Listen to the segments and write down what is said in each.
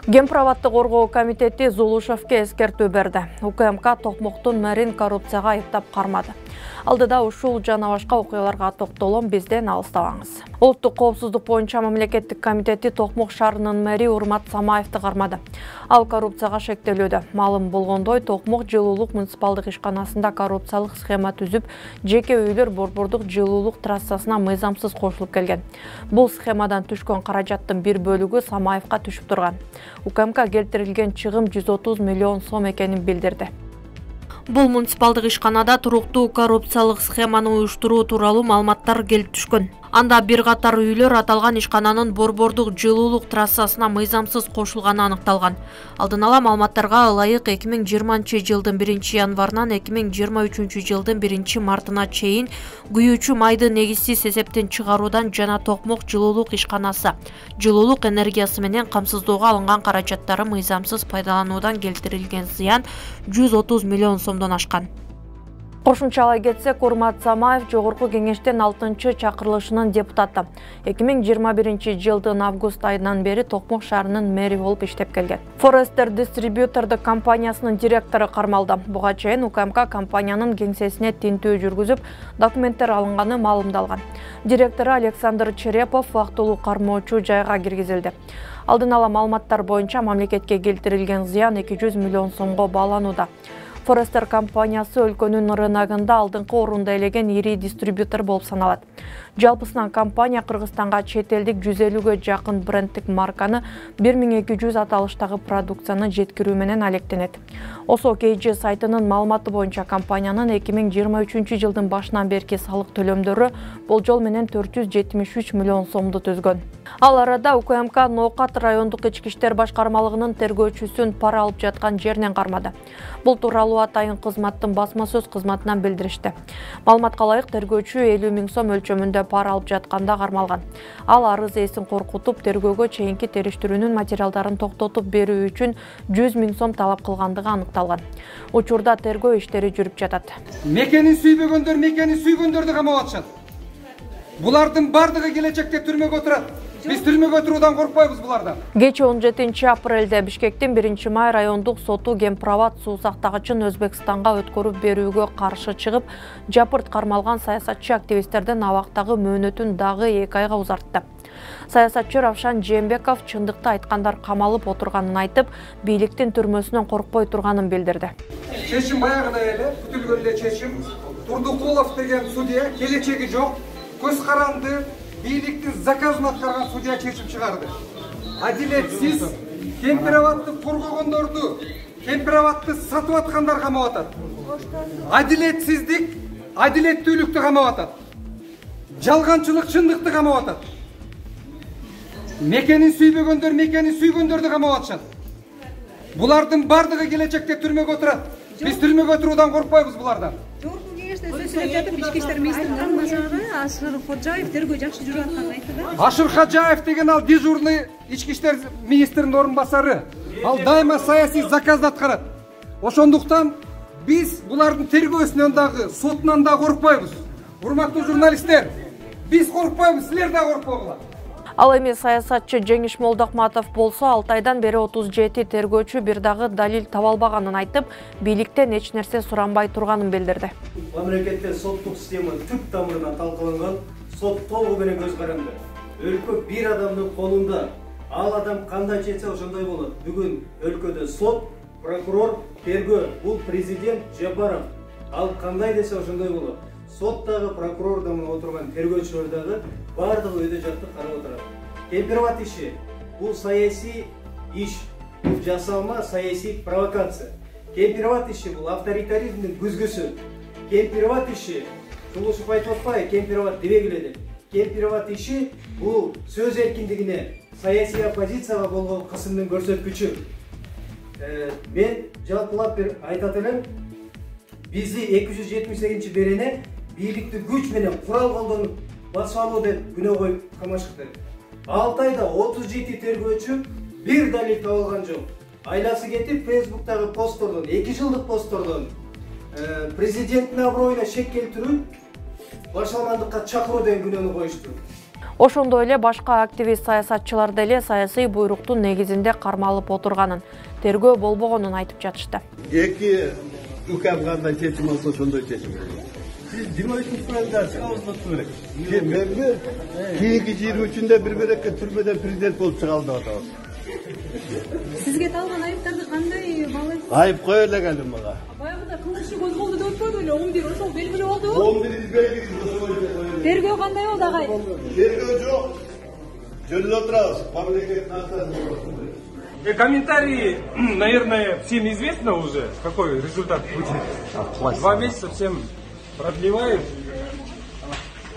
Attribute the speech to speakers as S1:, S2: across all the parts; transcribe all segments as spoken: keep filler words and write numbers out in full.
S1: Гемправатты коргоо комитети Зулушевке эскертүү берди. УКМК Токмоктун мэрин коррупцияга айыптап кармады. Алдыда ушул жана башка окуяларга токтолом, бизден алыстабаңыз. Улуттук коопсуздук боюнча мамлекеттик комитети Токмок шаарынын мэри Урмат Самаевди кармады. Ал коррупцияга шектелүүдө. Маалым болгондой, Токмок жылуулук муниципалдык ишканасында коррупциялык схема түзүп, жеке үйлөр борбордук жылуулук трассасына мыйзамсыз кошулуп келген. Бул схемадан түшкөн каражаттын бир бөлүгү Самаевга түшүп турган. УКМК келтирилген чыгым жүз отуз миллион сом экенин билдирди. Бул муниципалдык ишканада туруктуу коррупциялык схеманы уюштуруу тууралуу маалыматтар келип түшкөн. Анда бир катар үйлөр аталган ишкананын борбордук жылуулук трассасына мыйзамсыз кошулганы аныкталган. Алдын ала маалыматтарга ылайык эки миң жыйырманчы жылдын биринчи январынан эки миң жыйырма үчүнчү жылдын биринчи мартына чейин күйүүчү майды негизсиз эсептен чыгаруудан жана Токмок жылуулук ишканасы жылуулук энергиясы менен камсыздоого алынган каражаттары мыйзамсыз пайдалануудан келтирилген зыян жүз отуз миллион сомдон ашкан. Кошумчалай кетсек, Урмат Самаев Жогорку кеңештин алтынчы чакырылышынын депутаты. эки миң жыйырма биринчи жылдын август айынан бери Токмок шаарынын мэри болуп иштеп келген. Forester Distributor компаниясынын директору кармалды. Буга чейин УКМК компаниянын кеңсесине тинтүү жүргүзүп, документтер алынганы маалымдалган. Директору Александр Черепов убактылуу кармоочу жайга киргизилди. Алдын ала маалыматтар боюнча мамлекетке келтирилген зыян эки жүз миллион сомго бааланууда. Forester компаниясы өлкөнүн рыногунда алдыңкы орунда элеген ири дистрибьютор болуп саналат. Жалпысынан компания Кыргызстанга чет элдик жүз элүүгө жакын брендтик марканы бир миң эки жүз аталыштагы продукцияны жеткирүү менен алектенет. Осо кей жи сайтынын маалыматы боюнча компаниянын эки миң жыйырма үчүнчү жылдын башынан берки салык төлөмдөрү болжол менен төрт жүз жетимиш үч миллион сомду түзгөн. Ал арада УКМК Ноокат райондук ички иштер башкармалыгынын тергөөчүсүн пара алып жаткан жеринен кармады. Бул тууралуу атайын кызматтын басма сөз кызматынан билдиришти. Маалыматка ылайык, тергөөчү элүү миң сом өлчөмүндө пара алып жатканда кармалган. Ал арыз ээсин коркутуп, тергөөгө чейинки териштирүүнүн материалдарын токтотуп берүү үчүн жүз миң сом талап кылгандыгы аныкталган. Учурда тергөө иштери жүрүп жатат.
S2: Мекенин сүйбөгөндөр мекенин сүйгөндөрдү камап атышат. Булардын бардыгы келечекте түрмөгө отурат. Биз түрмөгө туруудан коркпойбуз булардан.
S1: Кечээ он жетинчи апрелде Бишкектин биринчи май райондук соту Гемправат суу сактагычын Өзбекстанга өткөрүп берүүгө каршы чыгып, жапырт кармалган саясатчы активисттердин абактагы мөөнөтүн дагы эки айга узартты. Саясатчы Равшан Жээнбеков чындыкты айткандар камалып отурганын айтып, бийликтин түрмөсүнөн коркпой турганын билдирди.
S2: Чечим баягыда эле, күтүлгөн эле чечим. Турдукулов деген судья келечеги жок, көз каранды, бийликтин заказын аткарган судья чечим чыгарды. Адилетсиз Кемпироватты коргогондорду, Кемпироватты сатып аткандар камап атат. Адилетсиздик, адилеттүүлүктү камап атат. Жалганчылык чындыкты камап атат. Мекенин сүйбөгөндөр мекенин сүйгөндөрдү камап атышат. Булардын бардыгы келечекте түрмөгө отурат. Биз түрмөгө туруудан коркпойбуз булардан.
S3: Жогорку кеңеште сөз сүйлөп жатып, ички иштер министринин орун басары Ашыр Ходжаев тергөө жакшы жүрүп атканын айтты да.
S2: Ашыр Ходжаев деген ал дежурный ички иштер министринин орун басары. Ал дайыма саясий заказды аткарат. Ошондуктан биз булардын тергөөсүнөн дагы, сотунан дагы коркпойбуз. Урматтуу журналисттер, биз коркпойбуз, силер да коркпогула.
S1: Ал эми саясатчы Жеңиш Молдокматов болсо алты айдан бери отуз жети тергөөчү бир дагы далил таба албаганын айтып, бийликтен эч нерсе суранбай турганын билдирди.
S4: Мамлекетте соттук система түп тамырынан талкаланган, сот толугу менен көз каранды. Өлкө бир адамдын колунда. Ал адам кандай чечсе ошондой болот. Бүгүн өлкөдө сот, прокурор, тергөө, бул президент Жапаров. Ал кандай десе ошондой болот. Соттагы прокурор дагы отурган тергөөчүлөр дагы бардыгы өйдө жатып карап отурат. Кемпироват иши бул саясий иш, бул жасалма саясий провокация. Кемпироват иши бул авторитаризмдин күзгүсү. Кемпироват иши Жулушев айтып атпайбы, Кемпироват дебегиле деп. Кемпироват иши бул сөз эркиндигине, саясий оппозицияга болгон кысымдын көрсөткүчү. Мен жалпылап бир айтат элем, бизди эки жүз жетимиш сегизинчи берене бийликти күч менен курал колдонуп басып алуу деп күнөө коюп камашыкты. алты айда отуз жети тергөөчү бир далил табылган жок. Айласы кетип Фейсбуктагы посттордон, эки жылдык посттордон президенттин аброюна шек келтирүү, башаламандыкка чакыруу деген күнөөнү коюшту.
S1: Ошондой эле башка активист саясатчылар деле саясий буйруктун негизинде кармалып отурганын, тергөө болбогонун айтып жатышты.
S5: Эки укам кандай чечим алса ошондой чечим. Сиз жыйырма үчүнчү февралда чыгабыз керек. Менби кийинки жыйырма үчүндө бир берекке түрмөдөн президент болуп чыгалды деп атабыз.
S3: Сизге талган айыптарды кандай баалайсыз?
S5: Айып кое эле келди мага.
S3: Баягыда кылмыш иши козголду деп атпадыбы эле? он бир ошол белгилүү болду.
S5: он бир белгилүү.
S3: Тергөө кандай болду агай?
S5: Тергөө жок. Жөнүндө отурабыз. Мамлекет наказаны.
S6: Комментарии, наверное, всем известно уже, какой результат будет. Два месяца всем продлевают.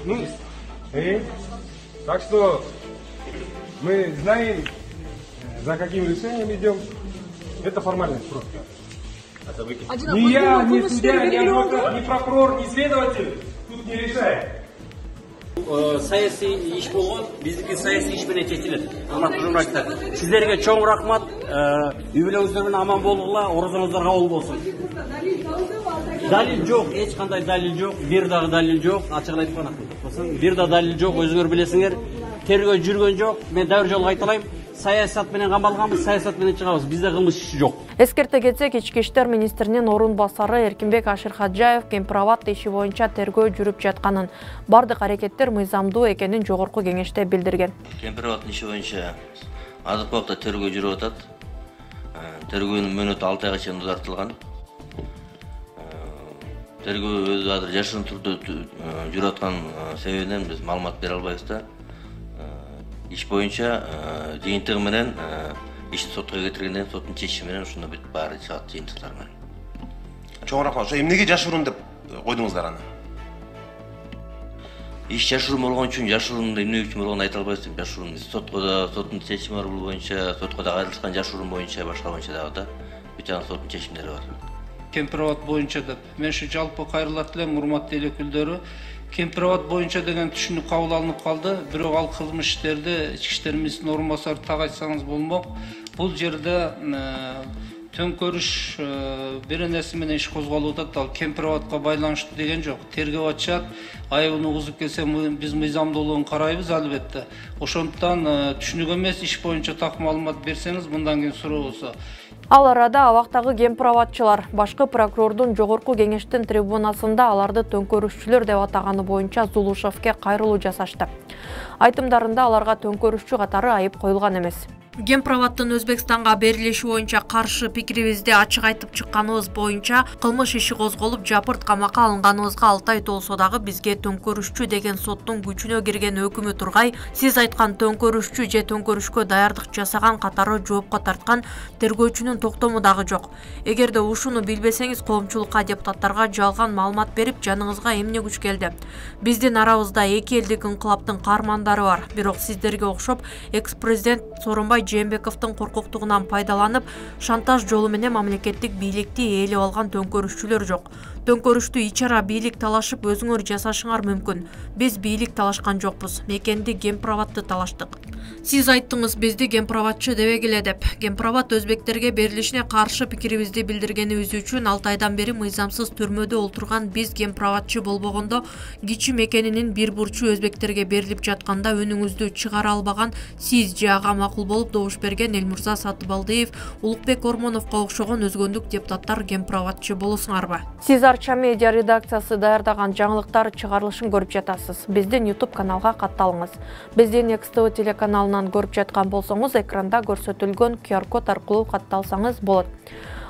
S6: Ну, и, так что мы знаем, за каким решением идем. Это формальность просто. Ни я, ни судья, ни адвокат, ни прокурор, ни следователь тут не решает.
S7: Саясий иш болгон, биздики саясий иш менен чечилет. Урматтуу журналисттер, сиздерге чоң рахмат. Үй бүлөңүздөр менен аман болгула, орозоңуздар кабыл болсун. Далил жок, эч кандай далил жок, бир дагы далил жок. Ачыгын айтып кана. Бир да далил жок, өзүңөр билесиңер. Тергөө жүргөн жок. Мен дагы бир жолу кайталайм. Саясат менен камалганбыз, саясат менен чыгабыз. Бизде кылмыш иши жок.
S1: Эскерте кетсек, Ички иштер министринин орун басары Эркинбек Аширхаджаев Кемпирабад иши боюнча тергөө жүрүп жатканын, бардык аракеттер мыйзамдуу экенин жогорку кеңеште билдирген.
S8: Кемпирабад иши боюнча азыркы убакта тергөө жүрүп атат. Тергөөнүн мөөнөтү алты айга чейин узартылган. Тергөө өзү азыр жашырын түрдө жүрүп аткан себебинен биз маалымат бере албайбыз да. Иш боюнча жыйынтыгы менен ишти сотко кетиргенден соттун чечими менен ушуну бүт баары чыгат жыйынтыктар менен.
S9: Чоң рахмат. Ошо эмнеге жашыруун деп койдуңуздар аны?
S8: Иш жашыруун болгон үчүн жашыруун эмне үчүн болгонун айта албайбыз. Жашыруун сотко да соттун чечими бар бул боюнча, сотко да кайрылышкан жашыруун боюнча, башка боюнча дагы да бүт жана соттун чечимдери бар.
S10: Кемпирабад боюнча деп. Мен ушу жалпы кайрылат элем, урматтуу эл өкүлдөрү. Кемпирабад боюнча деген түшүнүк кабыл алынып калды. Бирок ал кылмыш иштерди ички иштер министринин орун басары так айтсаңыз болмок. Бул жерде төңкөрүш бир нерсе менен иш козголуп атат. Ал Кемпирабадка байланыштуу деген жок. Тергөө ачат, айыбын угузуп келсе биз мыйзамдуулугун карайбыз албетте. Ошондуктан түшүнүк эмес иш боюнча так маалымат берсеңиз мындан кийин суроо болсо.
S1: Ал арада абактагы кемпирабадчылар башкы прокурордун жогорку кеңештин трибунасында аларды төңкөрүшчүлөр деп атаганы боюнча Зулушевке кайрылуу жасашты. Айтымдарында аларга төңкөрүшчү катары айып коюлган эмес. Кемпирабадтын Өзбекстанга берилиши боюнча каршы пикирибизди ачык айтып чыкканыбыз боюнча кылмыш иши козголуп жапырт камакка алынганыбызга алты ай толсо дагы бизге төңкөрүшчү деген соттун күчүнө кирген өкүмү тургай, сиз айткан төңкөрүшчү же төңкөрүшкө даярдык жасаган катары жоопко тарткан тергөөчүнүн токтому дагы жок. Эгерде ушуну билбесеңиз, коомчулукка, депутаттарга жалган маалымат берип, жаныңызга эмне күч келди? Биздин арабызда эки элдик инкылаптын каармандары бар. Бирок сиздерге окшоп, экс-президент Сооронбай Жээнбековдун коркоктугунан пайдаланып, шантаж жолу менен мамлекеттик бийликти ээлеп алган төңкөрүшчүлөр жок. Төңкөрүштү ичара бийлик талашып өзүңөр жасашыңар мүмкүн. Биз бийлик талашкан жокпуз. Мекенди Кемпирабадты талаштык. Сиз айттыңыз бизди кемпирабадчы дебегиле деп. Кемпирабад өзбектерге берилишине каршы пикирибизди билдиргенибиз үчүн алты айдан бери мыйзамсыз түрмөдө олтурган биз кемпирабадчы болбогондо, кичи мекенинин бир бурчу өзбектерге берилип жатканда өнүңүздү чыгара албаган сиз же ага макул болуп добуш берген Элмурза Сатыбалдиев, Улукбек Ормоновго окшогон өзгөндүк депутаттар кемпирабадчы болосуңарбы? Сиз Арча медиа редакциясы даярдаган жаңылыктар чыгарылышын көрүп жатасыз. Биздин YouTube каналга катталыңыз. Биздин X T V телеканалынан көрүп жаткан болсоңуз, экранда көрсөтүлгөн Q R код аркылуу катталсаңыз болот.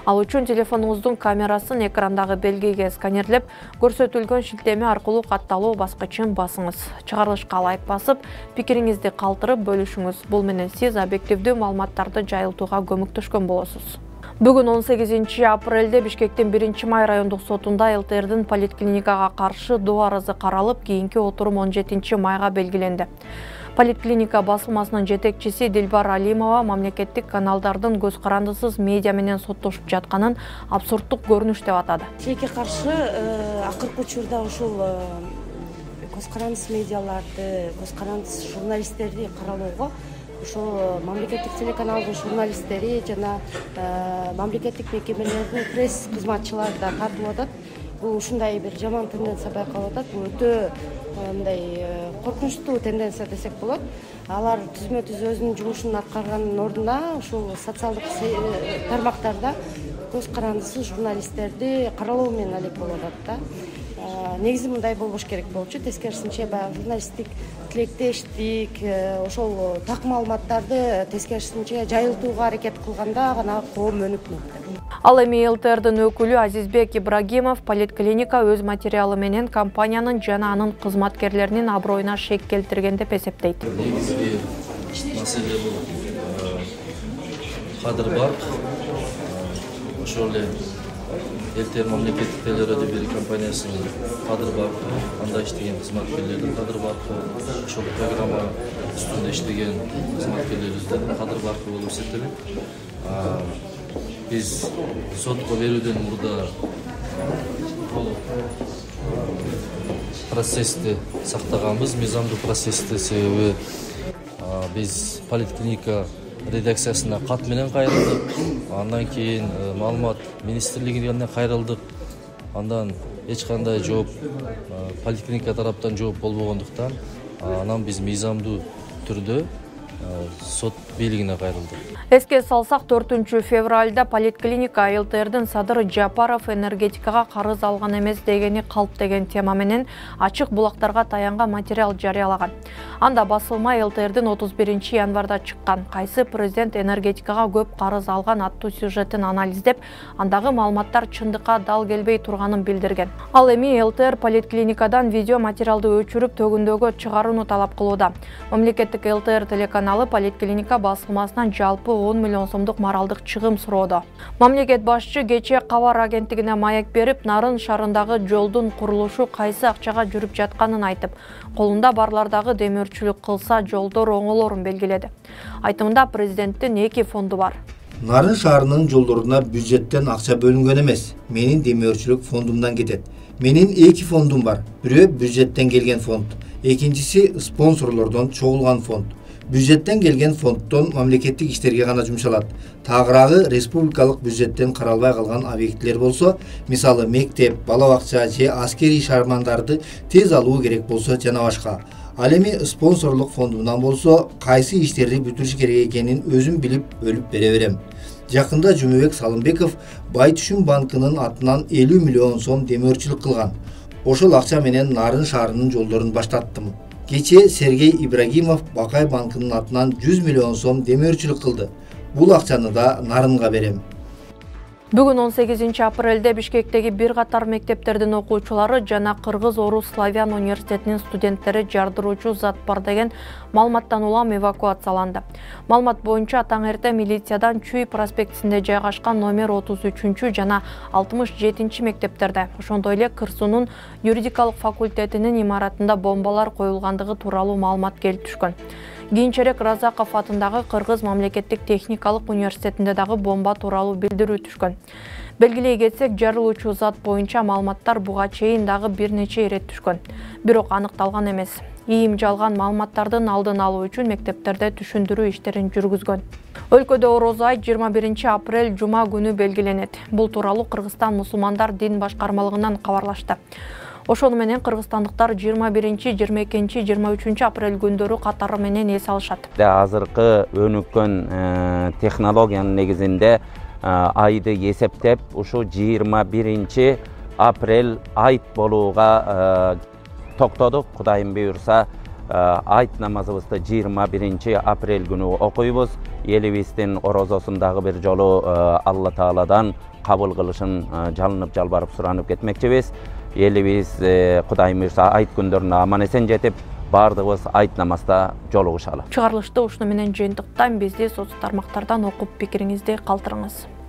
S1: Ал үчүн телефонуңуздун камерасын экрандагы белгиге сканерлеп, көрсөтүлгөн шилтеме аркылуу катталуу баскычын басыңыз. Чыгарылышка лайк басып, пикириңизди калтырып бөлүшүңүз. Бул менен сиз объективдүү маалыматтарды жайылтууга көмөктөшкөн болосуз. Бүгүн он сегизинчи апрелде Бишкектин биринчи май райондук сотунда Л Т Р'дин поликлиникага каршы доо арызы каралып, кийинки отурум он жетинчи майга белгиленди. Поликлиника басылмасынын жетекчиси Дилбар Алимова мамлекеттик каналдардын көз карандысыз медиа менен соттошуп жатканын абсурдтук көрүнүш деп атады.
S11: Тилекке каршы акыркы учурда ушул көз карандысыз медиаларды, көз карандысыз журналисттерди каралоого ошол мамлекеттик телеканалдын журналисттери жана мамлекеттик мекемелердин пресс кызматчылары да тартылып атат. Бул ушундай бир жаман тенденция байкалып атат. Бул өтө мындай коркунучтуу тенденция десек болот. Алар түзмө түз өзүнүн жумушун аткарганын ордуна ушул социалдык тармактарда көз карандысыз журналисттерди каралоо менен алек болуп атат да. Негизи мындай болбош керек болчу. Тескерисинче баягы журналисттик тилектештик, ошол так маалыматтарды тескерисинче жайылтууга аракет кылганда гана коом өнүп мыкты.
S1: Ал эми эл тэ эрдин өкүлү Азизбек Ибрагимов политклиника өз материалы менен компаниянын жана анын кызматкерлеринин аброюна шек келтирген деп эсептейт.
S12: Негизги маселе бул кадыр барк. Ошол эле эл тэ эр мамлекеттик телерадио берүү компаниясынын кадыр баркы, анда иштеген кызматкерлердин кадыр баркы, ошол программа үстүндө иштеген кызматкерлерибиздин кадыр баркы болуп эсептелет. Биз сотко берүүдөн мурда толук процессти сактаганбыз, мыйзамдуу процессти, себеби биз политклиника редакциясына кат менен кайрылдык, андан кийин маалымат министрлигине кайрылдык, андан эч кандай жооп политклиника тараптан жооп болбогондуктан анан биз мыйзамдуу түрдө сот бийлигине кайрылдык.
S1: Эске салсак, төртүнчү февралда политклиника эл тэ эрдин Садыр Жапаров энергетикага карыз алган эмес дегени калп деген тема менен ачык булактарга таянган материал жарыялаган. Анда басылма эл тэ эрдин отуз биринчи январда чыккан кайсы президент энергетикага көп карыз алган аттуу сюжетин анализдеп, андагы маалыматтар чындыкка дал келбей турганын билдирген. Ал эми эл тэ эр политклиникадан видео материалды өчүрүп төгүндөгө чыгарууну талап кылууда. Мамлекеттик эл тэ эр телеканалы политклиника басылмасынан жалпы он миллион сомдук моралдык чыгым суроодо. Мамлекет башчы кечээ кабар агенттигине маек берип, Нарын шаарындагы жолдун курулушу кайсы акчага жүрүп жатканын айтып, колунда барлардагы демөөрчүлүк кылса жолдор оңолорун белгиледи. Айтымында президенттин эки фонду бар.
S13: Нарын шаарынын жолдоруна бюджеттен акча бөлүнгөн эмес. Менин демөөрчүлүк фондумдан кетет. Менин эки фондум бар. Бирөө бюджеттен келген фонд, экинчиси спонсорлордон чогулган фонд. Бюджеттен келген фонддон мамлекеттик иштерге гана жумшалат. Тагыраагы республикалык бюджеттен каралбай калган объектилер болсо, мисалы мектеп, бала бакча же аскерий шармандарды тез алуу керек болсо жана башка. Ал эми спонсорлук фондумдан болсо, кайсы иштерди бүтүрүш керек экенин өзүм билип бөлүп бере берем. Жакында Жумабек Салымбеков Байтүшүн банкынын атынан элүү миллион сом демөөрчүлүк кылган. Ошол акча менен Нарын шаарынын жолдорун баштаттым. Кечээ Сергей Ибрагимов Бакай банкынын атынан жүз миллион сом демөөрчүлүк кылды. Бул акчаны да Нарынга берем.
S1: Бүгүн он сегизинчи апрелде Бишкектеги бир катар мектептердин окуучулары жана Кыргыз Орус Славян университетинин студенттери жардыруучу зат бар деген маалыматтан улам эвакуацияланды. Маалымат боюнча таң эрте милициядан Чүй проспектисинде жайгашкан номер отуз үчүнчү жана алтымыш жетинчи мектептерде, ошондой эле Кырсунун юридикалык факультетинин имаратында бомбалар коюлгандыгы тууралуу маалымат келип түшкөн. Кийинчерээк Разаков атындагы Кыргыз мамлекеттик техникалык университетинде дагы бомба тууралуу билдирүү түшкөн. Белгилей кетсек, жарылуучу зат боюнча маалыматтар буга чейин дагы бир нече ирет түшкөн. Бирок аныкталган эмес. ИИМ жалган маалыматтардын алдын алуу үчүн мектептерде түшүндүрүү иштерин жүргүзгөн. Өлкөдө Ороз айт жыйырма биринчи апрель жума күнү белгиленет. Бул тууралуу Кыргызстан мусулмандар дин башкармалыгынан кабарлашты. Ошону менен кыргызстандыктар жыйырма биринчи, жыйырма экинчи, жыйырма үчүнчү апрель күндөрү катары менен эс алышат.
S14: Азыркы өнүккөн технологиянын негизинде айды эсептеп, ушу жыйырма биринчи апрель айт болууга токтодук. Кудайым буйрса, айт намазыбызды жыйырма биринчи апрель күнү окуйбуз. Элибиздин орозосундагы бир жолу Алла Тааладан кабыл кылышын жалынып жалбарып суранып кетмекчибиз. Элибиз Кудайым буйрса айт күндөрүнө аман эсен жетип, бардыгыбыз айт намазда жолугушалы.
S1: Чыгарылышты ушуну менен жыйынтыктан бизди соц тармактардан окуп пикириңизди калтырыңыз.